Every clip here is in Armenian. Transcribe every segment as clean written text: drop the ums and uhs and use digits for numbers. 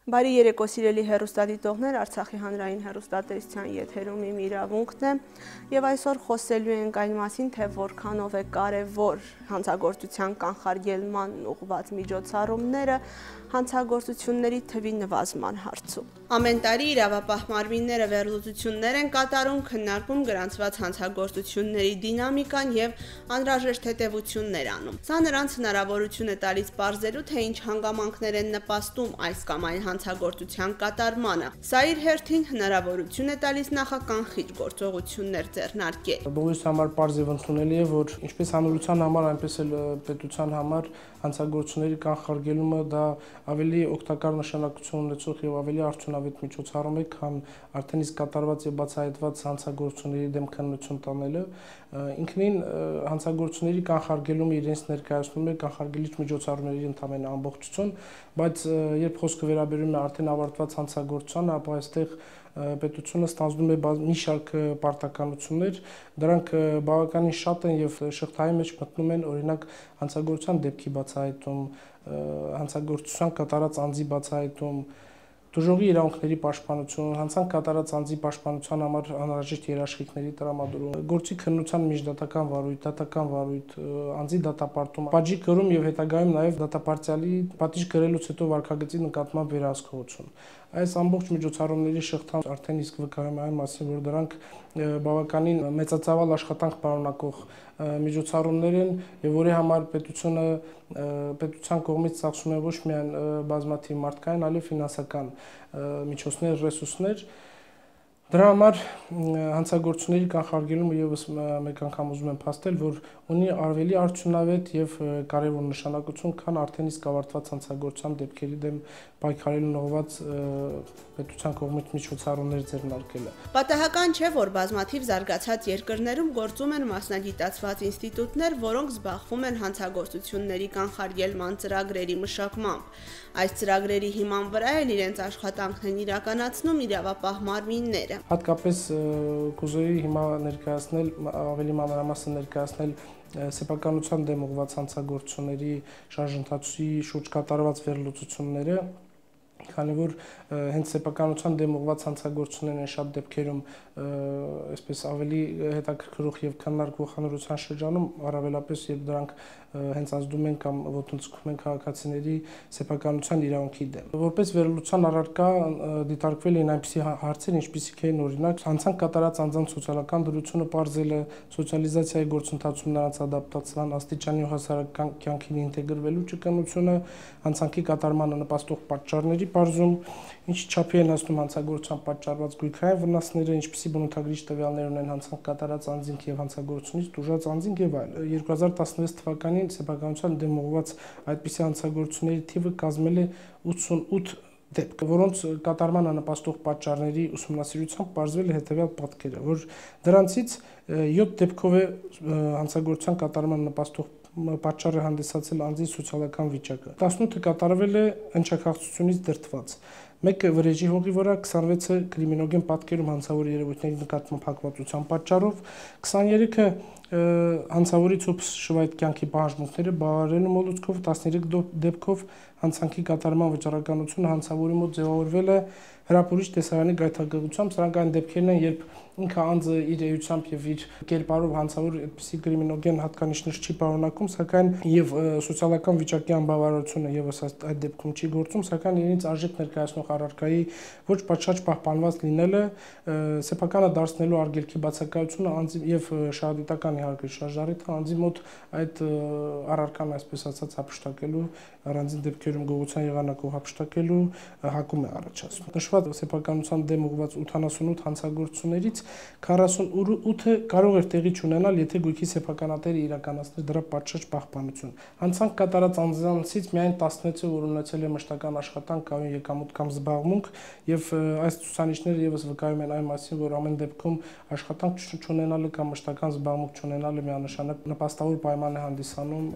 Բարի երեկո սիրելի հեռուստադիտողներ, Արցախի հանրային հեռուստատեսության եթերում իմ իրավունքն է եւ այսօր խոսելու ենք այն մասին, թե որքանով է կարեւոր հանցագործության կանխարգելման ուղղված միջոցառումները հանցագործությունների թվի նվազման հարցում։ Ամեն տարի իրավապահ մարմինները վերլուծություններ են կատարում, քննարկում գրանցված հանցագործությունների դինամիկան եւ անհրաժեշտ հետեւություններ անում։ Սա նրանց հնարավորություն է տալիս բարձելու, թե ինչ հանգամանքներ են նպաստում այս կամ այն հանցագործության կատարմանը։ Սա իր հերթին հնարավորություն է տալիս նախականխիչ գործողություններ ձեռնարկել։ Բոլորիս համար պարզ եւ ընդունելի է, որ ինչպես հանրության համար, այնպես էլ պետության համար հանցագործությունների կանխարգելումը դա ավելի օգտակար նշանակություն ունեցող եւ ավելի արդյունավետ միջոցառում է, քան արդեն իսկ կատարված եւ բացահայտված հանցագործությունների դեմ քննություն տանելը։ Ինքնին հանցագործությունների կանխարգելումը իրենց ներկայացնում է կանխարգելիչ միջոցառումների ընդհանրապես ամբողջություն, բայց երբ խոսքը վերաբերում է արդեն ավարտված հանցագործությանը, ապա այստեղ պետությունը ստանձնում է մի շարք պարտականություններ, դրանք բավականին շատ են եւ շղթայի մեջ մտնում են օրինակ հանցագործության դեպքի բացահայտում, հանցագործության կատարած անձի բացահայտում, դժողի իրավունքների պաշտպանություն, հանցանք կատարած անձի պաշտպանության համար անհրաժեշտ երաշխիքների տրամադրում, գործի քննության միջդատական վարույթ, դատական վարույթ, անձի դատապարտում, պատժի կրում եւ հետագայում նաեւ դատապարտյալի պատիժ կրելուց հետո վարքագծի նկատմամբ վերահսկողություն։ Այս ամբողջ միջոցառումների շղթան արդեն իսկ վկայում է այն մասին, որ դրանք բավականին մեծածավալ աշխատանք պարունակող միջոցառումներ են եւ որի համար պետության կողմից ծախսում է ոչ միայն բազմաթիվ մարդկային, այլև ֆինանսական միջոցներ, ռեսուրսներ։ Դրա համար հանցագործությունների կանխարգելումը եւս մեկ անգամ ուզում եմ փաստել, որ ունի ավելի արդյունավետ եւ կարեւոր նշանակություն, քան արդեն իսկ ավարտված հանցագործության դեպքերի դեմ պայքարելուն ուղղված պետության կողմից միջոցառումներ ձեռնարկելը։ Պատահական չէ, որ բազմաթիվ զարգացած երկրներում գործում են մասնագիտացված ինստիտուտներ, որոնք զբաղվում են հանցագործությունների կանխարգելման ծրագրերի մշակմամբ։ Այս ծրագրերի հիման վրա էլ իրենց աշխատանքն իրականացնում իրավապահ մարմինները։ Հատկապես կուզեի հիմա ներկայացնել, ավելի մանրամասն ներկայացնել սեփականության դեմ ուղղված հանցագործությունների շարժընթացի շուրջ կատարված վերլուծությունները, քանի որ հենց սեփականության դեմ ուղղված հանցագործություններն են շատ դեպքերում այսպես ավելի հետաքրքրող եւ քննարկվող հանրության շրջանում, առավելապես երբ դրանք հենց ազդում են կամ ոտնձգում են քաղաքացիների սեփականության իրավունքի դեմ։ Որպես վերլուծության առարկա դիտարկվել են այնպիսի հարցեր, ինչպիսիք են օրինակ հանցանք կատարած անձանց սոցիալական դրությունը պարզելը, սոցիալիզացիայի գործընթացում նրանց ադապտացման, աստիճանի ու հասարակական կյանքին ինտեգրվելու ճկունությունը, հանցանքի կատարմանը նպաստող պատճառների բարձում, ինչ չափի են հասնում հանցագործության պատճառված գույքային վնասները, ինչպիսի բնութագրիչ տվյալներ ունեն հանցանք կատարած անձինք եւ հանցագործությունից տուժած անձինք եւ այլն։ 2016 թվականին սեփականության դեմ ուղղված այդպիսի հանցագործությունների թիվը կազմել է 88 դեպք, որոնց կատարմանը նպաստող պատճառների ուսումնասիրությամբ պարզվել է հետեւյալ պատկերը, որ դրանցից 7 դեպքով է հանցագործության կատարմանը նպաստող պատճառը հանդիսացել անձի սոցիալական վիճակը, 18-ը կատարվել է ընչաքաղցությունից դրդված, 1-ը վրեժի հողի վրա, 26-ը կրիմինոգեն պատկերում հանցավոր երևույթների նկատմամբ հակվածության պատճառով, 23-ը հանցավորի ցոփ շվայտ կյանքի պահանջմունքները բավարարելու մոլուցքով, 13 դեպքով հանցանքի կատարման վճռականությունը հանցավորի մոտ ձևավորվել է հրապուրիչ տեսարանի գայթակղությամբ։ Սրանք այն դեպքերն են, երբ ինքը անձը իր էությամբ եւ իր կերպարով հանցավոր այդպիսի կրիմինոգեն հատկանիշներ չի պարունակում, սակայն եւ սոցիալական վիճակի անբավարարությունը եւս այդ դեպքում չի գործում, սակայն իրենց արժեք ներկայացնող առարկայի ոչ պատշաճ պահպանված լինելը, սեփականը դարձնելու արգելքի բացակայությունը անձի եւ շահադիտական իհարկե շարժառիթը անձի մոտ այդ առարկան այսպես ասած հափշտակելու, առանձին դեպքերում գողության եղանակով հափշտակելու հակում է առաջացնում։ Նշված սեփականության դեմ ուղղված 88 հանցագործություններից 48-ը կարող էր տեղի չունենալ, եթե գույքի սեփականատերը իրականացներ դրա պատշաճ պահպանություն։ Հանցանք կատարած անձանցից միայն 16-ը, որ ունեցել է մշտական աշխատանք, կայուն եկամուտ կամ զբաղմունք, եւ այս ցուցանիշները եւս վկայում են այն մասին, որ ամեն դեպքում աշխատանք չունենալը կամ մշտական զբաղմունք չունենալը միանշանակ նպաստավոր պայման է հանդիսանում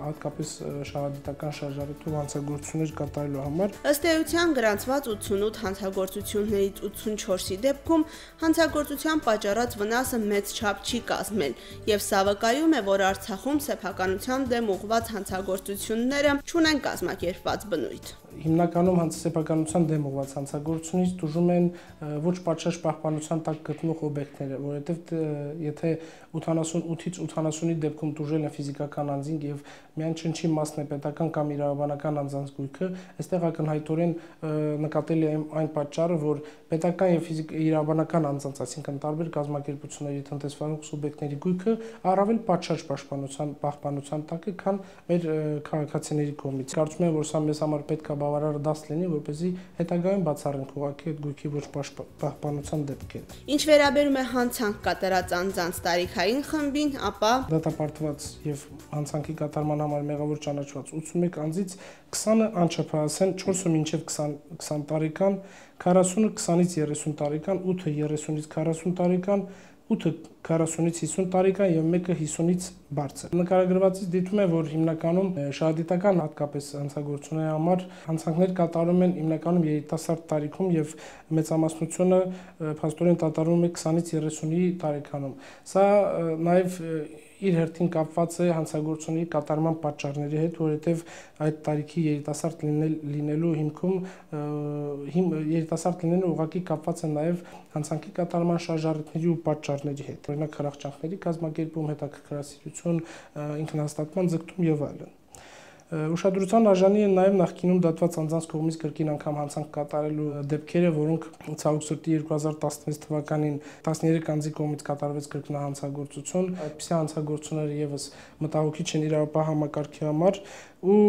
հատկապես շահադիտական շարժառիթով հանցագործություններ կատարելու համար։ Ըստ էության գրանցված 88 հանցագործություններից 84-ի դեպքում հանցագործության պատճառած վնասը մեծ չափ չի կազմել, եւ սա վկայում է, որ Արցախում սեփականության դեմ ուղղված հանցագործությունները չունեն կազմակերպված բնույթ։ հիմնականում սեփականության դեմ ուղղված հանցագործությունից դժում են ոչ պատշաճ պահպանության տակ գտնվող օբյեկտները, որովհետև եթե 88-ից 80-ի դեպքում դժել են ֆիզիկական անձինք եւ միայն չնչի մասն է պետական կամ իրավաբանական անձանց գույքը, այստեղ ակնհայտորեն նկատելի է այն պատճառը, որ պետական եւ իրավաբանական անձանց, այսինքն տարբեր կազմակերպությունների տնտեսվարող սուբյեկտների գույքը առավել պատշաճ պահպանության տակ է, քան մեր քաղաքացիների կողմից։ Կարծում եմ, որ սա մեզ համար պետք է բավարար դաս լինի, որպեսզի հետագայում բացառենք ուղղակի այդ գույքի ոչ պահպանության դեպքերը։ Ինչ վերաբերում է հանցանք կատարած անձանց տարիքային խմբին, ապա դատապարտված եւ հանցանքի կատարման համար մեղավոր ճանաչված 81 անձից 20-ը անչափահաս են, 4-ը մինչև 20 տարեկան, 40-ը 20-ից 30 տարեկան, 8-ը 30-ից 40 տարեկան, 8-ը 40-ից 50 տարեկան եւ 1-ը 50-ից բարձր։ Նկարագրվածից դիտում է, որ հիմնականում շահադիտական հատկապես հանցագործությունների համար հանցանքներ կատարում են հիմնականում երիտասարդ տարիքում եւ մեծամասնությունը փաստորեն կատարվում է 20-ից 30-ի տարեկանում։ Սա նաեւ իր հերթին կապված է հանցագործությունների կատարման պատճառների հետ, որովհետև այդ տարիքի երիտասարդ լինելու հիմքում երիտասարդ լինելը ուղղակի կապված է նաև հանցանքի կատարման շարժառիթների ու պատճառների հետ, օրինակ խրախճանքների կազմակերպում, հետաքրքրասիրություն, ինքնահաստատման ձգտում եւ այլն։ Ուշադրության արժանի են նաև նախկինում դատված անձանց կողմից կրկին անգամ հանցանք կատարելու դեպքերը, որոնք ցավոք սրտի 2016 թվականին 13 անձի կողմից կատարվեց կրկնահանցագործություն, այդպիսի հանցագործությունները եւս մտահոգիչ են իրավապահ համակարգի համար ու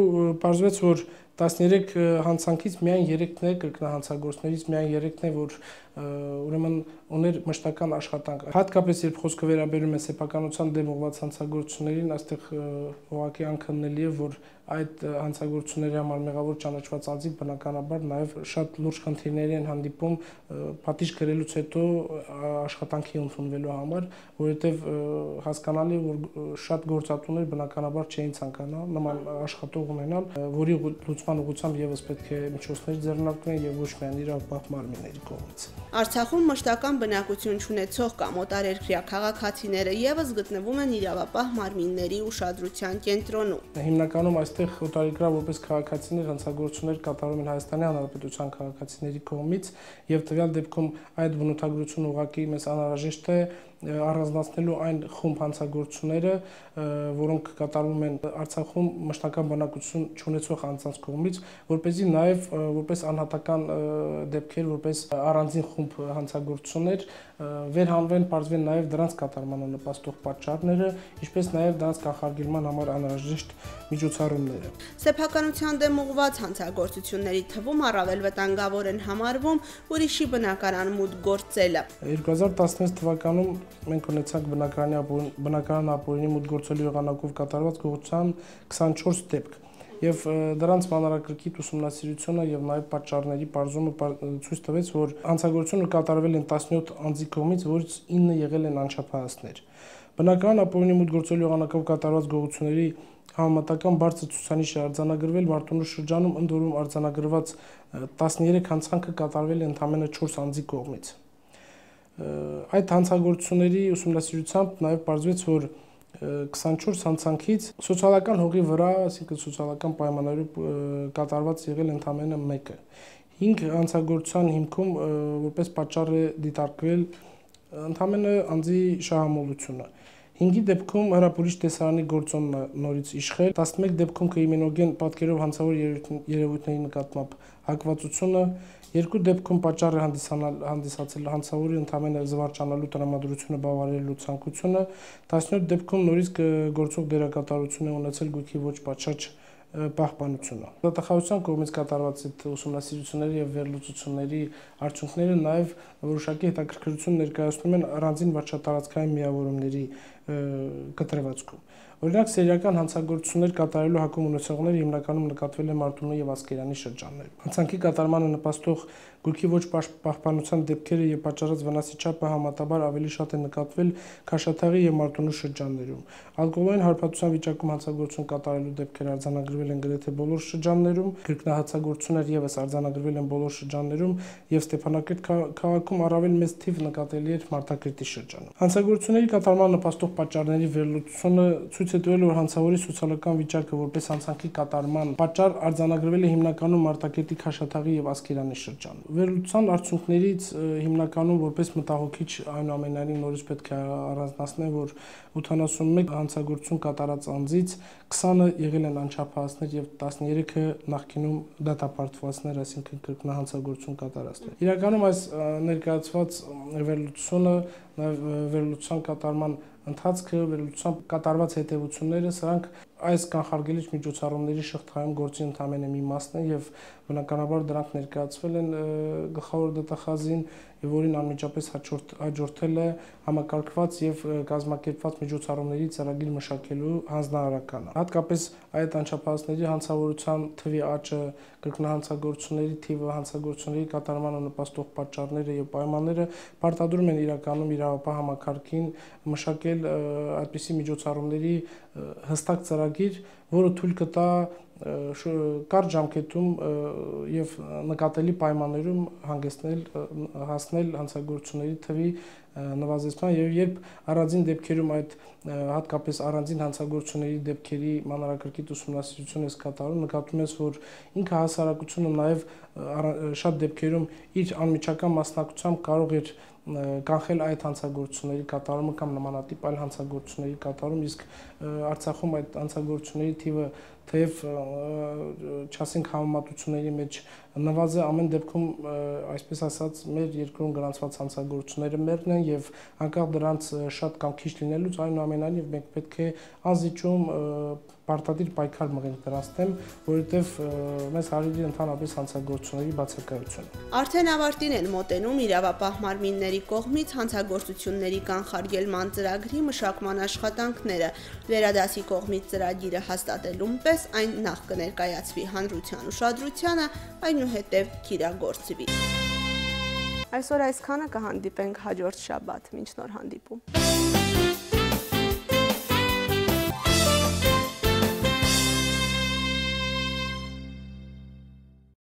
պարզվեց, որ 13 հանցանքից միայն 3-ն է կրկնահանցագործներից միայն 3-ն է, որ ուրեմն ուներ մշտական աշխատանք։ Հատկապես երբ խոսքը վերաբերում է սեփականության դեմ ուղղված հանցագործություններին, այստեղ ուղղակի անքննելի է, որ այդ հանցագործությունների համար մեղավոր ճանաչված անձիկ բնականաբար նաև շատ լուրջ խնդիրների են հանդիպում պատիժ կրելուց հետո աշխատանքի ընդունվելու համար, որովհետև հասկանալի է, որ շատ գործատուներ բնականաբար չէին ցանկանա նման աշխատող ունենալ, որի լուծման ուղղությամբ եւս պետք է միջոցներ ձեռնարկվեն եւ ոչ միայն իրավապահ մարմինների կողմից։ Արցախում մշտական բնակություն չունեցող կամ օտարերկրյա քաղաքացիները եւս գտնվում են իրավապահ մարմինների ուշադրության կենտրոնում։ Հիմնականում այստեղ օտարերկրյա որպես քաղաքացիներ հանցագործություններ կատարում են Հայաստանի Հանրապետության քաղաքացիների կողմից եւ տվյալ դեպքում այդ բնութագրությունը ուղղակի մեզ անհրաժեշտ է առանձնացնելու այն խումբ հանցագործությունները, որոնք կատարվում են Արցախում մշտական բնակություն չունեցող անձանց կողմից, որպեսզի նաև որպես անհատական դեպքեր, որպես առանձին խումբ հանցագործություններ վերհանվեն, պարզվեն նաև դրանց կատարմանը նպաստող պատճառները, ինչպես նաև դրանց կանխարգելման համար անհրաժեշտ միջոցառումները։ Սեփականության դեմ ուղղված հանցագործությունների թվում առավել վտանգավոր են համարվում ուրիշի բնակարան մուտք գործելը։ 2016 թվականում մենք ունեցանք բնակարան ապօրինի մուտք գործելու եղանակով կատարված գողության 24 դեպք եւ դրանց մանրակրկիտ ուսումնասիրությունը եւ նաեւ պատճառների բարձումը ցույց տվեց, որ հանցագործությունը կատարվել են 17 անձի կողմից, որից 9 եղել են անչափահասներ։ Բնակարան ապօրինի մուտք գործելու եղանակով կատարված գողությունների համեմատական բարձր ցուցանիշ է արձանագրվել Մարտունու շրջանում, ընդ որում արձանագրված 13 հանցանքը կատարվել է ընդամենը 4 անձի կողմից։ Այդ հանցագործությունների ուսումնասիրությամբ նաև պարզվեց, որ 24 հանցանքից սոցիալական հողի վրա, այսինքն սոցիալական պայմաններով կատարված եղել ընդամենը 1-ը։ 5 հանցագործության հիմքում որպես պատճառ է դիտարկվել ընդամենը անձի շահամոլությունը։ 5-ի դեպքում հրապուրիչ տեսարանի գործոնն նորից իշխել, 11 դեպքում կրիմինոգեն պատկերով հանցավոր երևույթների նկատմամբ հակվածությունը, 2 դեպքում պատճառ է հանդիսացել հանցավորի ընդամենը զվարճանալու տրամադրությունը բավարարելու ցանկությունը, 17 դեպքում նորից գործող դերակատարություն է ունեցել գույքի ոչ պատշաճ պահպանությունը։ Դատախազության կողմից կատարված այդ ուսումնասիրությունների եւ վերլուծությունների արդյունքները նաեւ որոշակի հետաքրքրություն ներկայացնում են առանձին վարչատարածքային միավորումների կտրվածքում։ Օրինակ, սերիական հանցագործություններ կատարելու հակում ունեցողները հիմնականում նկատվել են Մարտունու եւ Ասկերանի շրջաններում։ Հանցանքի կատարմանը նպաստող գույքի ոչ պահպանության դեպքերը եւ պատճառած վնասի չափը համատաբար ավելի շատ է նկատվել Քաշաթաղի եւ Մարտունու շրջաններում։ Ալկոհոլային հարբածության վիճակում հանցագործություն կատարելու դեպքեր արձանագրվել արձանագրվել են գրեթե բոլոր շրջաններում, կրկնահացագործություններ եւս արձանագրվել են բոլոր շրջաններում եւ Ստեփանակերտ քաղաքում առավել մեծ թիվ նկատելի էր Մարտակերտի շրջանում։ Հանցագործությունների կատարման նպաստող պատճառների վերլուծությունը ցույց է տվել, որ հանցավորի սոցիալական վիճակը որպես հանցանքի կատարման պատճառ արձանագրվել է հիմնականում Մարտակերտի Քաշաթաղի եւ Ասկերանի շրջանում։ Վերլուծության արդյունքներից հիմնականում որպես մտահոգիչ այնուամենայնիվ նորից պետք է առանձնացնել, որ 81 հանցագործություն կատարած անձից 20-ը եղել են անչափահասներ եւ 13-ը նախկինում դատապարտվածներ, այսինքն կրկնահանցագործություն կատարածներ։ Իրականում այս ներկայացված վերլուծությունը, վերլուծության կատարման ընթացքը, վերլուծության կատարված հետևությունները, սրանք այս կանխարգելիչ միջոցառումների շղթայում գործի ընդամենը մի մասն է եւ բնականաբար դրանք ներկայացվել են գլխավոր դատախազին եւ որին անմիջապես հաջորդել է համակարգված եւ կազմակերպված միջոցառումների ծրագիր մշակելու հանձնարարականը։ Հատկապես այդ անչափահասների հանցավորության թվի աճը, կրկնահանցագործությունների թիվը, հանցագործությունների կատարմանը նպաստող պատճառները եւ պայմանները պարտադրում են իրականում իրավապահ համակարգին մշակել այդպիսի միջոցառումների հստակ ծրագիր, որը թույլ կտա կարճ ժամկետում եւ նկատելի պայմաններում հասնել հանցագործությունների թվի նվազեցման եւ երբ առանձին դեպքերում այդ հատկապես առանձին հանցագործությունների դեպքերի մանրակրկիտ ուսումնասիրություն է կատարում, նկատում ես, որ ինքը հասարակությունը նաեւ շատ դեպքերում իր անմիջական մասնակցությամբ կարող էր կանխել այդ հանցագործությունների կատարումը կամ նմանատիպ այլ հանցագործությունների կատարում, իսկ Արցախում այդ հանցագործությունների թիվը թեև չասենք համեմատությունների մեջ նվազ է, ամեն դեպքում այսպես ասած մեր երկրում գրանցված հանցագործությունները մերն են եւ անկախ դրանց շատ կամ քիչ լինելուց այնուամենայնիվ մենք պետք է անզիջում պարտադիր պայքար մղենք դրանց դեմ, որովհետեւ մեզ հարելի ընդհանրապես հանցագործությունների բացակայությունը։ Արդեն ավարտին են մոտենում իրավապահ մարմինների կողմից հանցագործությունների կանխարգելման ծրագրի մշակման աշխատանքները։ Վերադասի կողմից ծրագիրը հաստատելուն պես այն նախ կներկայացվի հանրության ուշադրությանը, այնուհետև կիրագործվի։ Այսօր այսքանը, կհանդիպենք հաջորդ շաբաթ, մինչ նոր հանդիպում։